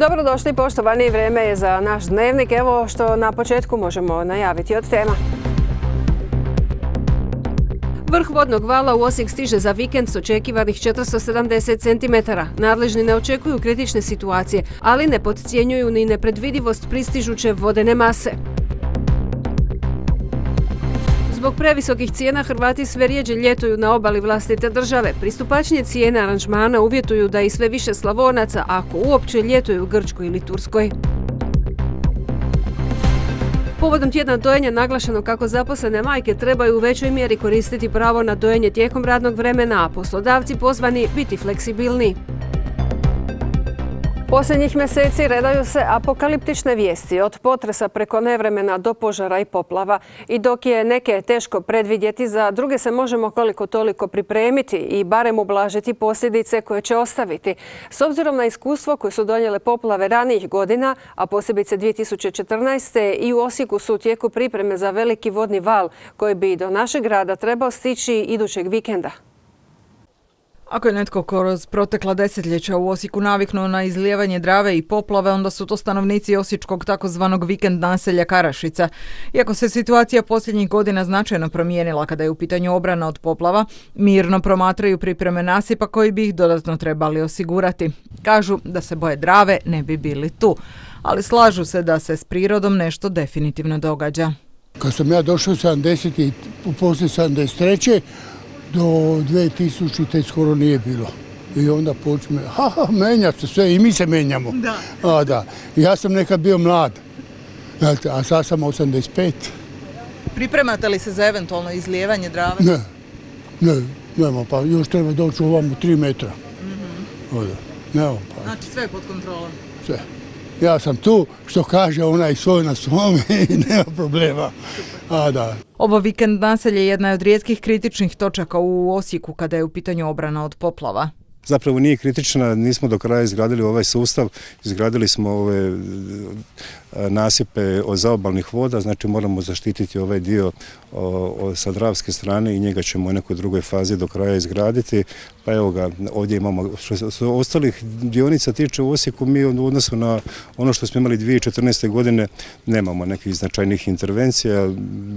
Dobrodošli poštovani, vrijeme je za naš dnevnik. Evo što na početku možemo najaviti od tema. Vrh vodnog vala u Osijek stiže za vikend s očekivanih 470 cm. Nadležni ne očekuju kritične situacije, ali ne podcjenjuju ni nepredvidivost pristižuće vodene mase. Zbog previsokih cijena Hrvati sve rjeđe ljetuju na obali vlastite države. Pristupačnije cijene aranžmana uvjetuju da i sve više Slavonaca, ako uopće, ljetuju u Grčkoj ili Turskoj. Povodom tjedna dojenja naglašeno kako zaposlene majke trebaju u većoj mjeri koristiti pravo na dojenje tijekom radnog vremena, a poslodavci pozvani biti fleksibilni. Posljednjih mjeseci redaju se apokaliptične vijesti, od potresa preko nevremena do požara i poplava. I dok je neke teško predvidjeti, za druge se možemo koliko toliko pripremiti i barem ublažiti posljedice koje će ostaviti. S obzirom na iskustvo koje su donijele poplave ranijih godina, a posebice 2014. i u Osijeku su u tijeku pripreme za veliki vodni val koji bi do našeg grada trebao stići idućeg vikenda. Ako je netko kroz protekla desetljeća u Osijeku naviknuo na izlijevanje Drave i poplave, onda su to stanovnici osječkog takozvanog vikend naselja Karašica. Iako se situacija posljednjih godina značajno promijenila kada je u pitanju obrana od poplava, mirno promatraju pripreme nasipa koji bi ih dodatno trebali osigurati. Kažu da se boje Drave, ne bi bili tu, ali slažu se da se s prirodom nešto definitivno događa. Kad sam ja došao 70 i poslije 73. do 2000. skoro nije bilo. I onda počne, menja se sve i mi se menjamo. Da. Ja sam nekad bio mlad, a sad sam 85. Pripremate li se za eventualno izlijevanje Drave? Nema, pa još treba doći ovamo 3 metra. Znači sve je pod kontrolom? Sve. Ja sam tu, što kaže onaj svoj na svome i nema problema. Ovo vikend naselje jedna je od rijetkih kritičnih točaka u Osijeku kada je u pitanju obrana od poplava. Zapravo nije kritična, nismo do kraja izgradili ovaj sustav, izgradili smo ove nasipe od zaobalnih voda, znači moramo zaštititi ovaj dio sa dravske strane i njega ćemo u nekoj drugoj fazi do kraja izgraditi. Pa evo ga, ovdje imamo, što se ostalih dionica tiče u Osijeku, mi u odnosu na ono što smo imali 2014. godine nemamo nekih značajnih intervencija.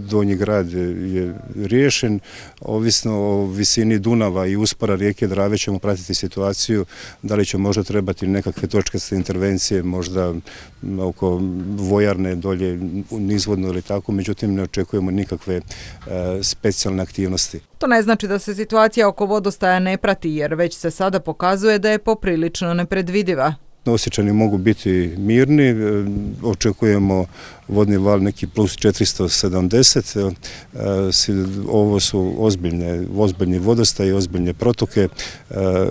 Donji grad je riješen, ovisno o visini Dunava i uspora rijeke Drave ćemo pratiti situaciju, da li će možda trebati nekakve točkaste intervencije, možda oko vojarne dolje nizvodno ili tako, međutim ne očekujemo nikakve specijalne aktivnosti. To ne znači da se situacija oko vodostaja ne prati, jer već se sada pokazuje da je poprilično nepredvidiva. Osječani mogu biti mirni, očekujemo vodni val neki plus 470, ovo su ozbiljni vodostaj, ozbiljne protoke.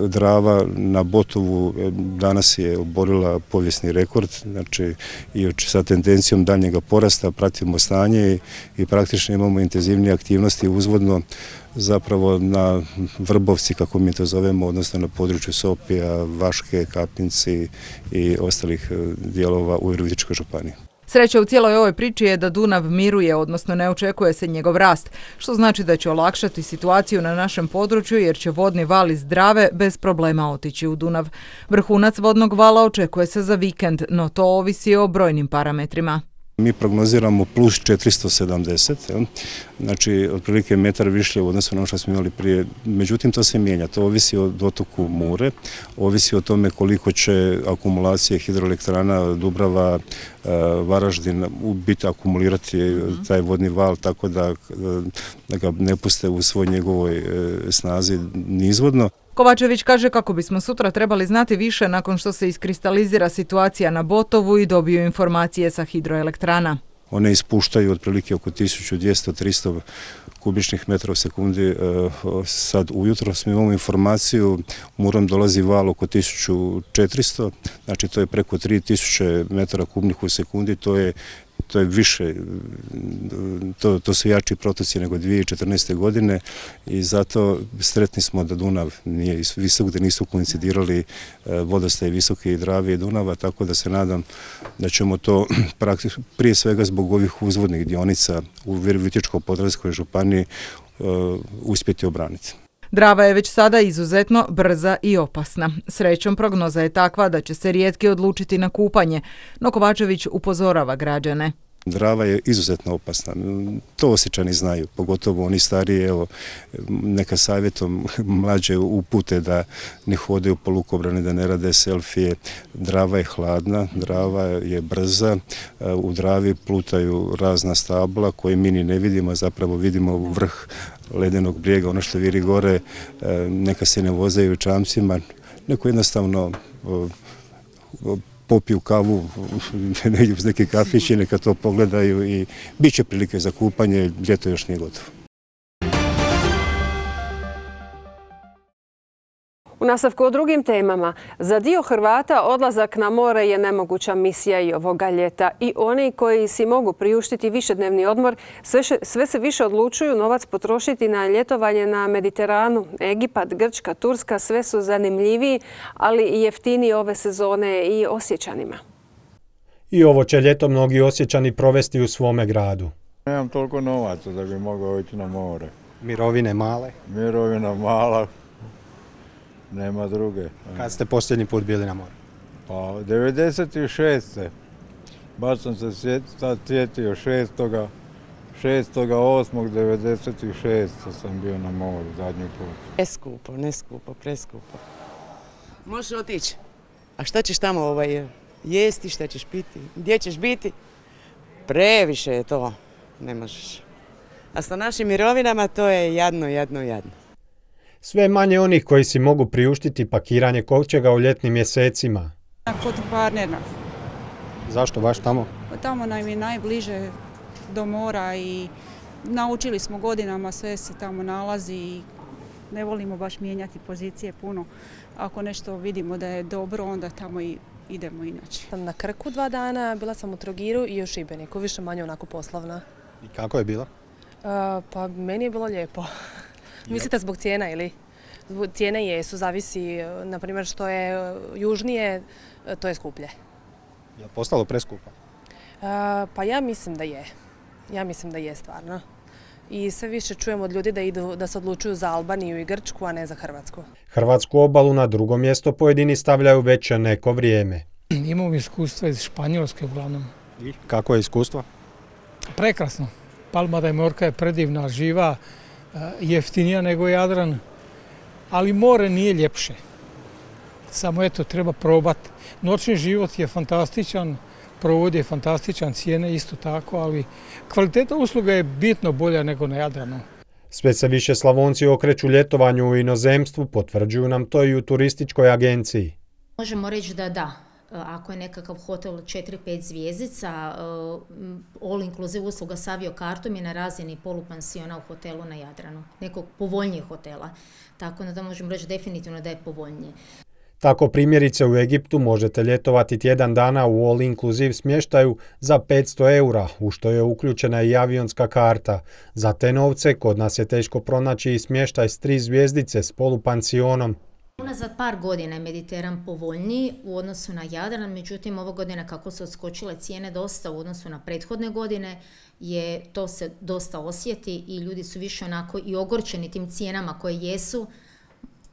Drava na Botovu danas je oborila povijesni rekord, znači i sa tendencijom daljnjega porasta pratimo stanje i praktično imamo intenzivnije aktivnosti uzvodno, zapravo na Vrbovci, kako mi to zovemo, odnosno na području Sopija, Vaške, Kapinci i ostalih dijelova u Virovitičkoj županiji. Sreća u cijeloj ovoj priči je da Dunav miruje, odnosno ne očekuje se njegov rast, što znači da će olakšati situaciju na našem području jer će vodni val iz Drave bez problema otići u Dunav. Vrhunac vodnog vala očekuje se za vikend, no to ovisi o brojnim parametrima. Mi prognoziramo plus 470, znači otprilike metar više u odnosu na ono što smo imali prije. Međutim, to se mijenja, to ovisi o dotoku Mure, ovisi o tome koliko će akumulacije hidroelektrana Dubrava, Varaždin biti akumulirati taj vodni val, tako da ga ne puste u svoj njegovoj snazi nizvodno. Kovačević kaže kako bismo sutra trebali znati više nakon što se iskristalizira situacija na Botovu i dobiju informacije sa hidroelektrana. One ispuštaju otprilike oko 1200-300 kubičnih metra u sekundi. Sad ujutro smo imamo informaciju, Murom dolazi val oko 1400, znači to je preko 3000 metara kubnih u sekundi, to je više, to su jači protoci nego 2014. godine i zato sretni smo da Dunav nije visok, da nisu koincidirali vodostaj visoke i Drave i Dunava, tako da se nadam da ćemo to prije svega zbog ovih uzvodnih dionica u Virovitičko-podravskoj županiji uspjeti obraniti. Drava je već sada izuzetno brza i opasna. Srećom, prognoza je takva da će se rijetki odlučiti na kupanje, no Kovačević upozorava građane. Drava je izuzetno opasna. To Osječani znaju, pogotovo oni stariji, evo, neka savjetom mlađe upute da ne hodaju po lukobrani, da ne rade selfije. Drava je hladna, drava je brza, u Dravi plutaju razna stabla koje mi ni ne vidimo, zapravo vidimo vrh ledenog brijega, ono što viri gore, neka se ne vozaju čamcima, neko jednostavno popiju kavu negdje uz neki kafić i neka to pogledaju i bit će prilike za kupanje, ljeto još nije gotovo. U nastavku o drugim temama, za dio Hrvata odlazak na more je nemoguća misija i ovoga ljeta. I oni koji si mogu priuštiti višednevni odmor sve se više odlučuju novac potrošiti na ljetovanje na Mediteranu. Egipat, Grčka, Turska sve su zanimljiviji, ali i jeftiniji ove sezone i Osječanima. I ovo će ljeto mnogi Osječani provesti u svome gradu. Nemam toliko novaca da bi mogao ići na more. Mirovine male? Mirovina mala. Nema druge. Kad ste posljednji put bili na moru? Pa 96. Baš sam se sjetio 6.8.96. sam bio na moru zadnji put. Neskupo, preskupo. Možeš otići. A šta ćeš tamo jesti, šta ćeš piti, gdje ćeš biti? Previše je to, ne možeš. A sa našim mirovinama to je jadno. Sve manje onih koji si mogu priuštiti pakiranje kovčega u ljetnim mjesecima. Kod Kvarnera. Zašto baš tamo? Tamo nam je najbliže do mora i naučili smo godinama, sve se tamo nalazi i ne volimo baš mijenjati pozicije puno. Ako nešto vidimo da je dobro, onda tamo i idemo inače. Sam na Krku 2 dana, bila sam u Trogiru i u Šibeniku, više manje onako poslovna. I kako je bilo? Pa meni je bilo lijepo. Mislite zbog cijena ili? Cijene jesu, zavisi, na primjer što je južnije, to je skuplje. Je li postalo preskupo? Pa ja mislim da je. Ja mislim da je stvarno. I sve više čujemo od ljudi da se odlučuju za Albaniju i Grčku, a ne za Hrvatsku. Hrvatsku obalu na drugo mjesto pojedini stavljaju već neko vrijeme. Imam iskustva iz Španjolske uglavnom. I kako je iskustvo? Prekrasno. Palma de Mallorca je predivna, živa, jeftinija nego Jadran, ali more nije ljepše. Samo eto, treba probati. Noćni život je fantastičan, provod je fantastičan, cijene isto tako, ali kvaliteta usluga je bitno bolja nego na Jadranu. Sve se više Slavonci okreću ljetovanju u inozemstvu, potvrđuju nam to i u turističkoj agenciji. Možemo reći da. Ako je nekakav hotel 4-5 zvjezdica, all inclusive usluga s aviokartom je na razini polupansiona u hotelu na Jadranu, nekog povoljnijeg hotela. Tako da možemo reći definitivno da je povoljnije. Tako primjerice u Egiptu možete ljetovati tjedan dana u all inclusive smještaju za 500 eura, u što je uključena i avionska karta. Za te novce kod nas je teško pronaći i smještaj s 3 zvjezdice s polupansionom. Unazad par godina je Mediteran povoljniji u odnosu na Jadran, međutim ove godine kako su odskočile cijene dosta u odnosu na prethodne godine, to se dosta osjeti i ljudi su više onako i ogorčeni tim cijenama koje jesu,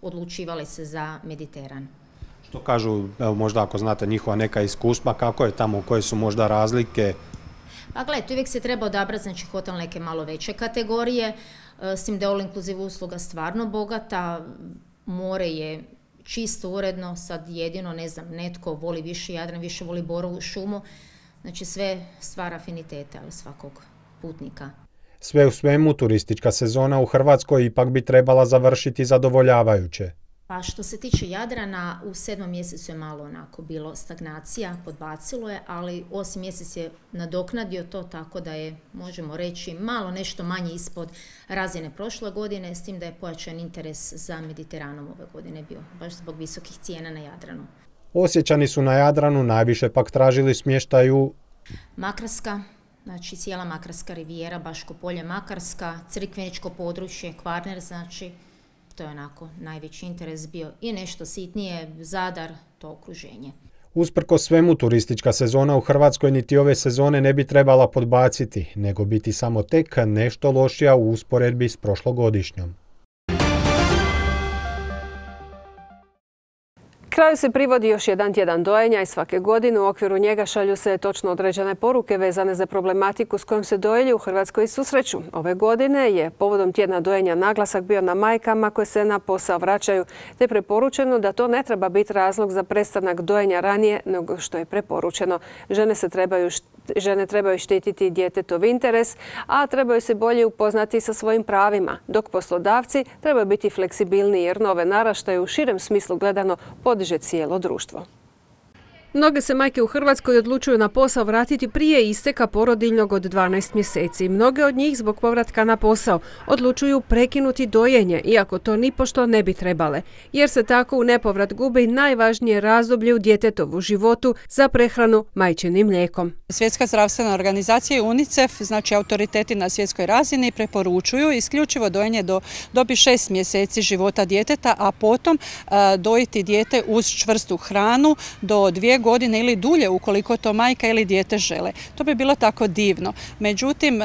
odlučivali se za Mediteran. Što kažu, evo možda ako znate njihova neka iskustva, kako je tamo, koje su možda razlike? Pa gledajte, uvijek se treba odabrati, znači hotel neke malo veće kategorije, s tim da je all inclusive usluga stvarno bogata, more je čisto uredno, sad jedino, netko voli više Jadran, više voli Borovu šumu, znači sve stvara afinitete, ali svakog putnika. Sve u svemu, turistička sezona u Hrvatskoj ipak bi trebala završiti zadovoljavajuće. Pa što se tiče Jadrana, u 7. mjesecu je malo onako bilo stagnacija, podbacilo je, ali 8. mjesec je nadoknadio to tako da je, možemo reći, malo nešto manje ispod razine prošle godine, s tim da je pojačan interes za Mediteranom ove godine bio, baš zbog visokih cijena na Jadranu. Osječani su na Jadranu najviše pak tražili smještaj u Makarska, znači cijela Makarska rivijera, Baško polje Makarska, Crikveničko područje, Kvarner, znači to je onako najveći interes bio i nešto sitnije, Zadar, to okruženje. Usprkos svemu, turistička sezona u Hrvatskoj niti ove sezone ne bi trebala podbaciti, nego biti samo tek nešto lošija u usporedbi s prošlogodišnjom. Kraju se privodi još jedan tjedan dojenja i svake godine u okviru njega šalju se točno određene poruke vezane za problematiku s kojom se dojilji u Hrvatskoj susreću. Ove godine je povodom tjedna dojenja naglasak bio na majkama koje se na posao vraćaju, te preporučeno da to ne treba biti razlog za prestanak dojenja ranije nego što je preporučeno. Žene trebaju štititi djetetov interes, a trebaju se bolje upoznati sa svojim pravima, dok poslodavci trebaju biti fleksibilniji jer nove naraštaje u širem smislu gledano podiže cijelo društvo. Mnoge se majke u Hrvatskoj odlučuju na posao vratiti prije isteka porodiljnog od 12 mjeseci. Mnoge od njih zbog povratka na posao odlučuju prekinuti dojenje, iako to nipošto ne bi trebale, jer se tako u nepovrat gubi najvažnije razdoblje u djetetovu životu za prehranu majčinim mlijekom. Svjetska zdravstvena organizacija i UNICEF, znači autoriteti na svjetskoj razini, preporučuju isključivo dojenje do dobi 6 mjeseci života djeteta, a potom dojiti dijete uz čvrstu hranu do 2 godine ili dulje ukoliko to majka ili dijete žele. To bi bilo tako divno. Međutim,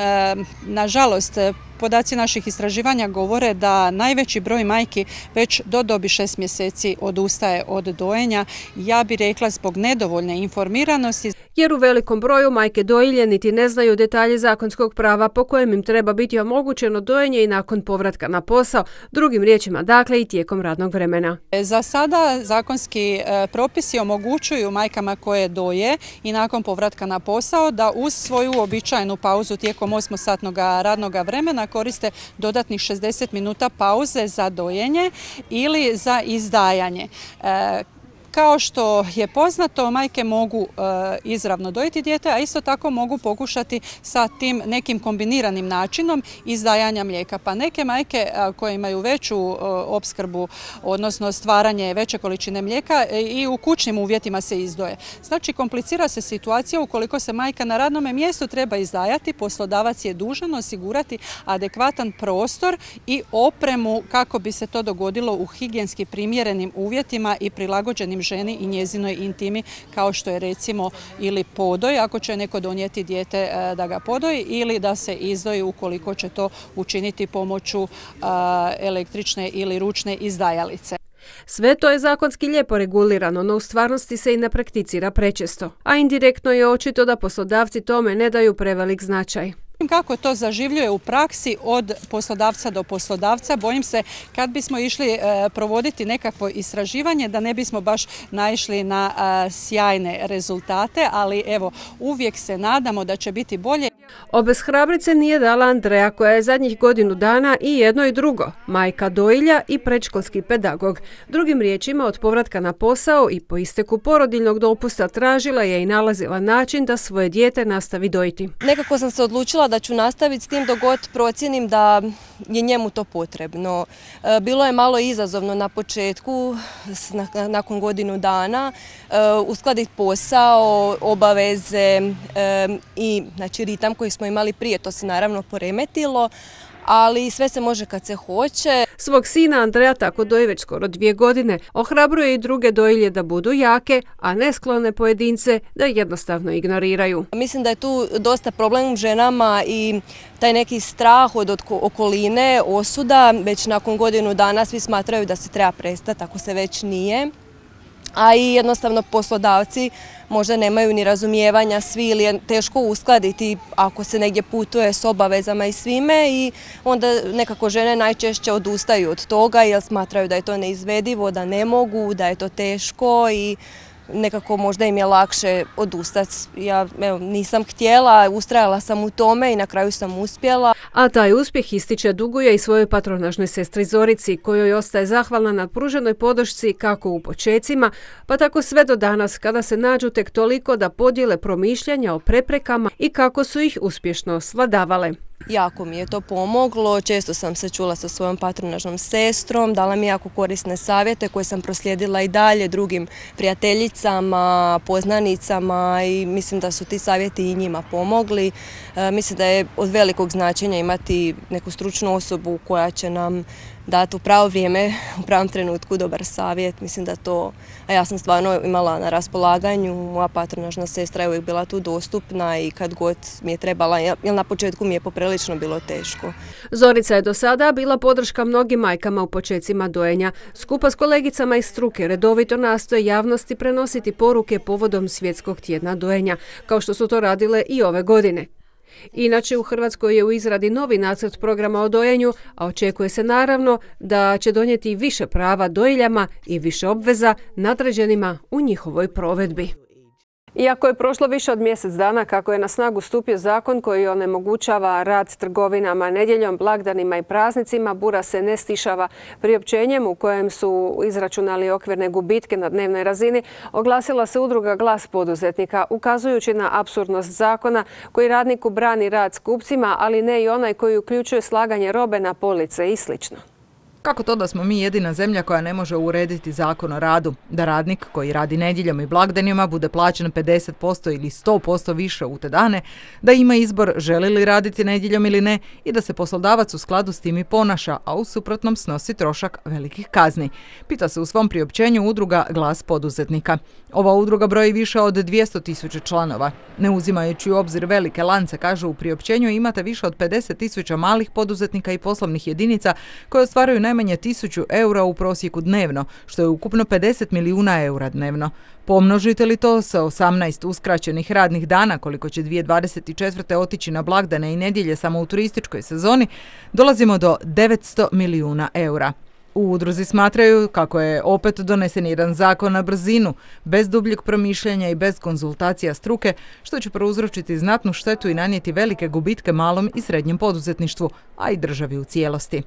nažalost, podaci naših istraživanja govore da najveći broj majki već do dobi 6 mjeseci odustaje od dojenja. Ja bih rekla zbog nedovoljne informiranosti. Jer u velikom broju majke dojilje niti ne znaju detalje zakonskog prava po kojem im treba biti omogućeno dojenje i nakon povratka na posao, drugim riječima dakle i tijekom radnog vremena. Za sada zakonski propisi omogućuju majkama koje doje i nakon povratka na posao da uz svoju uobičajenu pauzu tijekom 8-satnog radnog vremena koriste dodatnih 60 minuta pauze za dojenje ili za izdajanje. Kao što je poznato, majke mogu izravno dojiti dijete, a isto tako mogu pokušati sa tim nekim kombiniranim načinom izdajanja mlijeka. Pa neke majke koje imaju veću opskrbu, odnosno stvaranje veće količine mlijeka i u kućnim uvjetima se izdoje. Znači, komplicira se situacija ukoliko se majka na radnom mjestu treba izdajati, poslodavac je dužan osigurati adekvatan prostor i opremu kako bi se to dogodilo u higijenski primjerenim uvjetima i prilagođenim ženi i njezinoj intimi, kao što je recimo ili podoj, ako će neko donijeti dijete da ga podoji, ili da se izdoji ukoliko će to učiniti pomoću električne ili ručne izdajalice. Sve to je zakonski lijepo regulirano, no u stvarnosti se i ne prakticira prečesto. A indirektno je očito da poslodavci tome ne daju prevelik značaj. Kako to zaživljuje u praksi od poslodavca do poslodavca, bojim se kad bismo išli provoditi nekakvo istraživanje da ne bismo baš naišli na sjajne rezultate, ali evo, uvijek se nadamo da će biti bolje. Obeshrabrice nije dala Andreja koja je zadnjih godinu dana i jedno i drugo, majka dojilja i predškolski pedagog. Drugim riječima, od povratka na posao i po isteku porodiljnog dopusta tražila je i nalazila način da svoje dijete nastavi dojiti. Nekako sam se odlučila da ću nastaviti s tim dok god procijenim da je njemu to potrebno. Bilo je malo izazovno na početku, nakon godinu dana, uskladiti posao, obaveze i znači, ritam koji smo imali prije, to se naravno poremetilo, ali sve se može kad se hoće. Svog sina Andreja tako doji već skoro 2 godine. Ohrabruje i druge dojilje da budu jake, a nesklone pojedince da jednostavno ignoriraju. Mislim da je tu dosta problem ženama i taj neki strah od okoline, osuda. Već nakon godinu dana svi smatraju da se treba prestati ako se već nije. A i jednostavno poslodavci možda nemaju ni razumijevanja svi ili je teško uskladiti ako se negdje putuje s obavezama i svime i onda nekako žene najčešće odustaju od toga jer smatraju da je to neizvedivo, da ne mogu, da je to teško i nekako možda im je lakše odustati. Ja nisam htjela, ustrajala sam u tome i na kraju sam uspjela. A taj uspjeh ističe duguje i svojoj patronažnoj sestri Zorici, kojoj ostaje zahvalna na pruženoj podršci kako u počecima, pa tako sve do danas kada se nađu tek toliko da podijele promišljanja o preprekama i kako su ih uspješno svladavale. Jako mi je to pomoglo, često sam se čula sa svojom patronažnom sestrom, dala mi jako korisne savjete koje sam proslijedila i dalje drugim prijateljicama, poznanicama i mislim da su ti savjeti i njima pomogli. Mislim da je od velikog značenja imati neku stručnu osobu koja će nam dati u pravo vrijeme, u pravom trenutku dobar savjet. Mislim da to, a ja sam stvarno imala na raspolaganju, moja patronažna sestra je uvijek bila tu dostupna i kad god mi je trebala, jer na početku mi je poprilično bilo teško. Zorica je do sada bila podrška mnogim majkama u počecima dojenja. Skupa s kolegicama iz struke redovito nastoje javnosti prenositi poruke povodom Svjetskog tjedna dojenja, kao što su to radile i ove godine. Inače, u Hrvatskoj je u izradi novi nacrt programa o dojenju, a očekuje se naravno da će donijeti više prava dojiljama i više obveza nadređenima u njihovoj provedbi. Iako je prošlo više od mjesec dana kako je na snagu stupio zakon koji onemogućava rad trgovinama nedjeljom, blagdanima i praznicima, bura se ne stišava. Priopćenjem u kojem su izračunali okvirne gubitke na dnevnoj razini, oglasila se udruga Glas poduzetnika, ukazujući na apsurdnost zakona koji radniku brani rad s kupcima, ali ne i onaj koji uključuje slaganje robe na police i sl. Kako to da smo mi jedina zemlja koja ne može urediti zakon o radu? Da radnik koji radi nedjeljom i blagdanima bude plaćen 50% ili 100% više u te dane, da ima izbor želi li raditi nedjeljom ili ne i da se poslodavac u skladu s tim i ponaša, a u suprotnom snosi trošak velikih kazni. Pita se u svom priopćenju udruga Glas poduzetnika. Ova udruga broji više od 200.000 članova. Ne uzimajući u obzir velike lance, kaže u priopćenju, imate više od 50.000 malih poduzetnika i poslovnih jedinica koje ostvaruju najmanje 1.000 eura u prosjeku dnevno, što je ukupno 50 milijuna eura dnevno. Pomnožite li to sa 18 uskraćenih radnih dana, koliko će 2024. otići na blagdane i nedjelje samo u turističkoj sezoni, dolazimo do 900 milijuna eura. U udruzi smatraju kako je opet donesen jedan zakon na brzinu, bez dubljeg promišljanja i bez konzultacija struke, što će prouzročiti znatnu štetu i nanijeti velike gubitke malom i srednjem poduzetništvu, a i državi u cijelosti.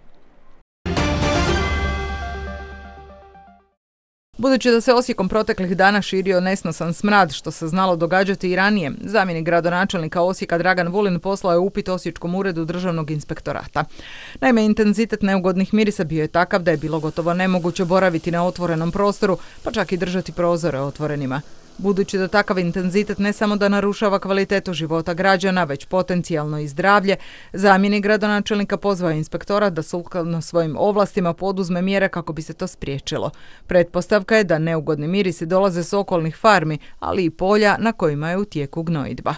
Budući da se Osijekom proteklih dana širio nesnosan smrad, što se znalo događati i ranije, zamjenik gradonačelnika Osijeka Dragan Vulin poslao je upit Osječkom uredu državnog inspektorata. Naime, intenzitet neugodnih mirisa bio je takav da je bilo gotovo nemoguće boraviti na otvorenom prostoru, pa čak i držati prozore otvorenima. Budući da takav intenzitet ne samo da narušava kvalitetu života građana, već potencijalno i zdravlje, zamjenik gradonačelnika pozvao inspektorat da sukladno svojim ovlastima poduzme mjere kako bi se to spriječilo. Pretpostavka je da neugodni mirisi dolaze s okolnih farmi, ali i polja na kojima je u tijeku gnojidba.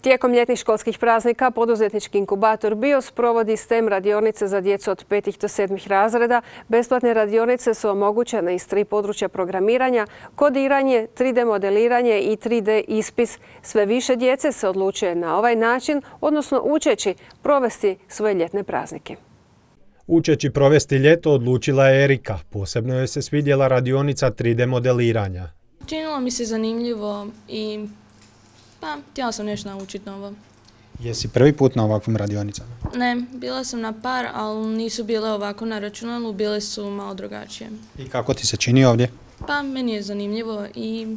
Tijekom ljetnih školskih praznika poduzetnički inkubator BIOS provodi STEM radionice za djecu od 5. do 7. razreda. Besplatne radionice su omogućene iz 3 područja programiranja, kodiranje, 3D modeliranje i 3D ispis. Sve više djece se odlučuje na ovaj način, odnosno učeći provesti svoje ljetne praznike. Učeći provesti ljeto odlučila je Erika. Posebno joj se svidjela radionica 3D modeliranja. Činilo mi se zanimljivo i htjela sam nešto naučiti novo. Jesi prvi put na ovakvim radionicama? Ne, bila sam na par, ali nisu bile ovako na računalu, bile su malo drugačije. I kako ti se čini ovdje? Meni je zanimljivo i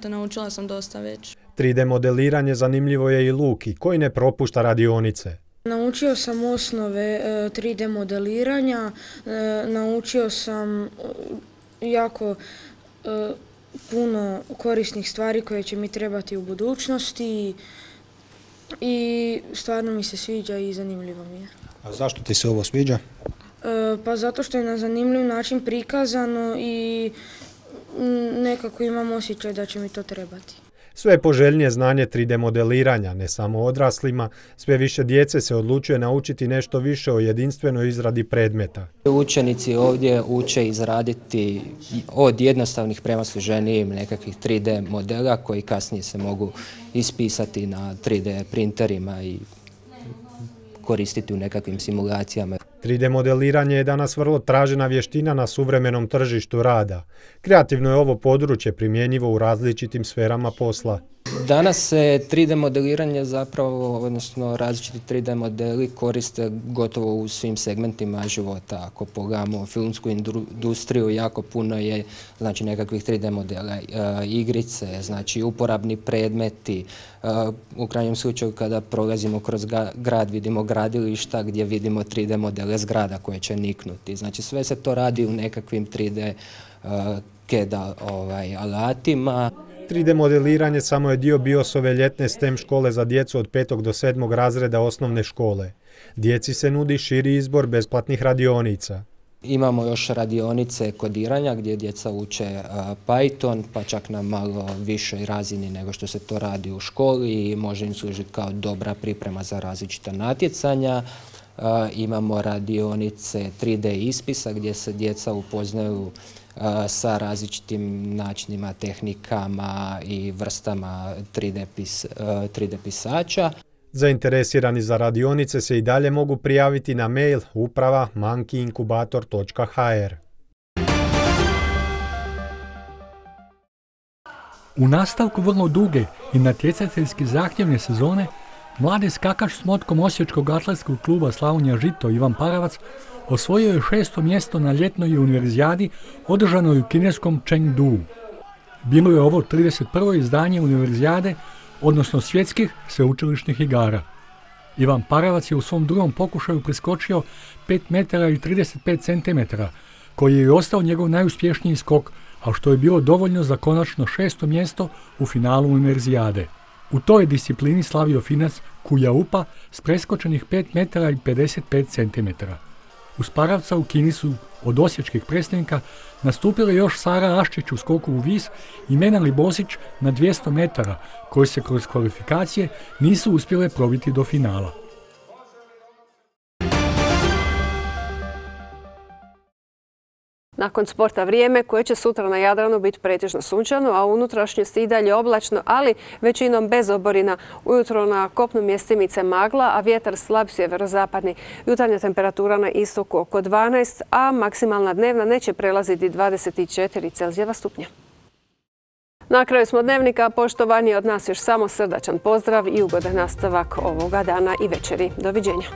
naučila sam dosta već. 3D modeliranje zanimljivo je i Luki, koji ne propušta radionice. Naučio sam osnove 3D modeliranja, naučio sam jako puno korisnih stvari koje će mi trebati u budućnosti i stvarno mi se sviđa i zanimljivo mi je. A zašto ti se ovo sviđa? Pa zato što je na zanimljiv način prikazano i nekako imam osjećaj da će mi to trebati. Sve poželjnije znanje 3D modeliranja, ne samo odraslima, sve više djece se odlučuje naučiti nešto više o jedinstvenoj izradi predmeta. Učenici ovdje uče izraditi od jednostavnih prema složenijim nekakvih 3D modela koji kasnije se mogu ispisati na 3D printerima i koristiti u nekakvim simulacijama. 3D modeliranje je danas vrlo tražena vještina na suvremenom tržištu rada. Kreativno je ovo područje primjenjivo u različitim sferama posla. Danas se 3D modeliranje zapravo, odnosno različiti 3D modeli koriste gotovo u svim segmentima života. Ako pogledamo filmsku industriju, jako puno je nekakvih 3D modela, igrice, uporabni predmeti. U krajnjem slučaju kada prolazimo kroz grad vidimo gradilišta gdje vidimo 3D modele zgrada koje će niknuti. Sve se to radi u nekakvim 3D CAD alatima. 3D modeliranje samo je dio BIOS-ove ljetne STEM škole za djecu od 5. do 7. razreda osnovne škole. Djeci se nudi širi izbor besplatnih radionica. Imamo još radionice kodiranja gdje djeca uče Python, pa čak na malo višoj razini nego što se to radi u školi i može im služiti kao dobra priprema za različita natjecanja. Imamo radionice 3D ispisa gdje se djeca upoznaju sa načinima, tehnikama i vrstama 3D pisača. Zainteresirani za radionice se i dalje mogu prijaviti na mail uprava@monkeyinkubator.hr. U nastavku vrlo duge i natjecateljski zahtjevne sezone, mladi skakač s motkom Osječkog atletskog kluba Slavonija Žito Ivan Paravac osvojio je 6. mjesto na ljetnoj univerzijadi održanoj u kineskom Chengdu. Bilo je ovo 31. izdanje univerzijade, odnosno svjetskih sveučilišnih igara. Ivan Paravac je u svom drugom pokušaju preskočio 5 metara i 35 centimetara, koji je ostao njegov najuspješniji skok, a što je bilo dovoljno za konačno 6. mjesto u finalu univerzijade. U toj disciplini slavio Finac Kujaupa s preskočenih 5 metara i 55 centimetara. Uz Paravca u Kini su od osječkih predstavnika nastupili još Sara Aščić u skoku u vis i Menali Bosić na 200 metara, koji se kroz kvalifikacije nisu uspjele probiti do finala. Nakon sporta vrijeme koje će sutra na Jadranu biti pretežno sunčano, a u unutrašnjosti i dalje oblačno, ali većinom bez oborina. Ujutro na kopnu mjestimice magla, a vjetar slab sjeverozapadni. Jutarnja temperatura na istoku oko 12, a maksimalna dnevna neće prelaziti 24 Celzijeva stupnja. Na kraju smo dnevnika. Poštovani, od nas još samo srdačan pozdrav i ugodan nastavak ovoga dana i večeri. Doviđenja.